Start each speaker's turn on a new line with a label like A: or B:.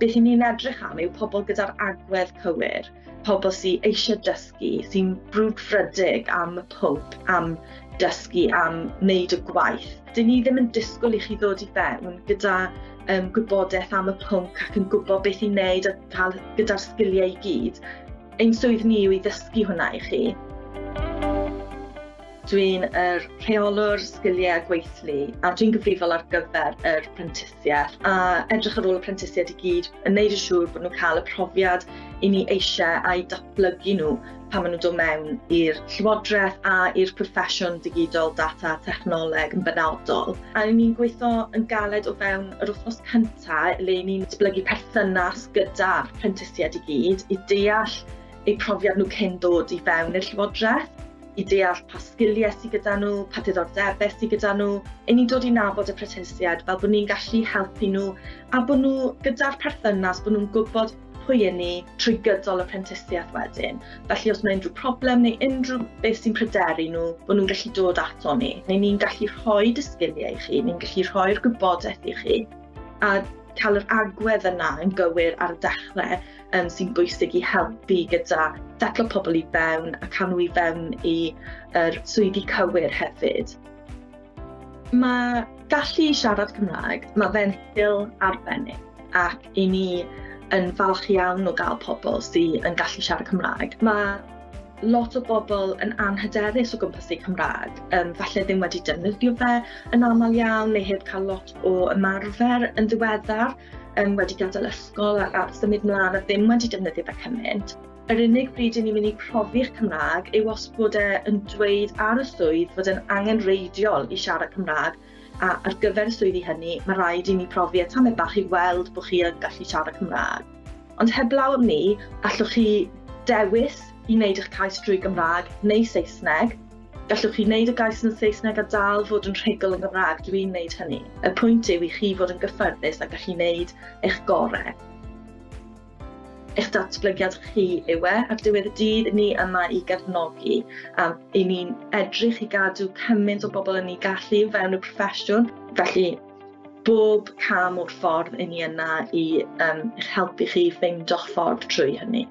A: Beth i ni'n edrych am yw pobl gyda'r agwedd cywir, pobl sydd eisiau dysgu, sy'n brwdfrydig am y pwnc, am dysgu, am wneud y gwaith. Dyn ni ddim yn disgwyl i chi ddod i fewn gyda gwybodaeth am y pwnc ac yn gwybod beth i wneud a cael gyda'r sgiliau i gyd. Ein swydd ni yw i ddysgu hwnna i chi. Dwi'n yr rheolwr sgiliau a gweithlu a dwi'n gyfrifol ar gyfer yr prentisiaeth a edrych ar ôl y prentisiaid i gyd yn neud yn siŵr bod nhw'n cael y profiad i ni eisiau a'i datblygu nhw pan maen nhw'n dod mewn i'r llywodraeth a i'r proffesiwn digidol, data, technoleg yn benodol. A ni'n gweithio yn galed o fewn yr wythnos cyntaf le ni'n datblygu perthynas gyda'r prentisiaid i gyd i deall eu profiad nhw cyn dod i fewn i'r llywodraeth, i deall pa sgiliau sydd gyda nhw, pa diddordebau sydd gyda nhw. I ni'n dod i nabod y prentisiaid fel bod ni'n gallu helpu nhw a bod nhw gyda'r perthynas, bod nhw'n gwybod pwy y'n ni trwy gydol y prentisiaeth wedyn. Felly os mae unrhyw problem neu unrhyw beth sy'n pryderu nhw, bod nhw'n gallu dod ato ni. Neu ni'n gallu rhoi y sgiliau i chi, ni'n gallu rhoi'r gwybodaeth i chi a cael yr agwedd yna yn gywir ar y dechrau sy'n bwysig i helpu gyda setlo pobl i fewn a cael nhw i fewn i yr swyddi cywir hefyd. Mae gallu siarad Cymraeg, mae fe'n sgil arbennig ac i ni yn falch iawn o gael pobl sydd yn gallu siarad Cymraeg. Mae lot o bobl yn anhyderus o gwmpas eu Cymraeg, falle ddim wedi defnyddio fe yn aml iawn neu heb cael lot o ymarfer yn ddiweddar, wedi gadael ysgol a symud mlaen a ddim wedi defnyddio fe cymaint. Yr unig bryd i ni'n mynd i profi'ch Cymraeg yw os bod e yn dweud ar y swydd fod e'n angenrheidiol i siarad Cymraeg, a ar gyfer y swyddi hynny mae rhaid i ni profi e tamed bach i weld bod chi yn gallu siarad Cymraeg. Ond heblaw am ni, allwch chi dewis i wneud eich cais drwy Gymraeg neu Saesneg. Gallwch chi wneud y gais yn Saesneg a dal fod yn rhugl yn Gymraeg, dwi'n wneud hynny. Y pwynt yw i chi fod yn gyffyrddus a gallu wneud eich gorau. Eich datblygiad chi yw e, ar diwedd y dydd, ni yma i gefnogi. I ni'n edrych i gadw cymaint o bobl yn ei gallu o fewn y proffesiwn. Felly, bob cam o'r ffordd i ni yna i eich helpu chi ffeindio'ch ffordd trwy hynny.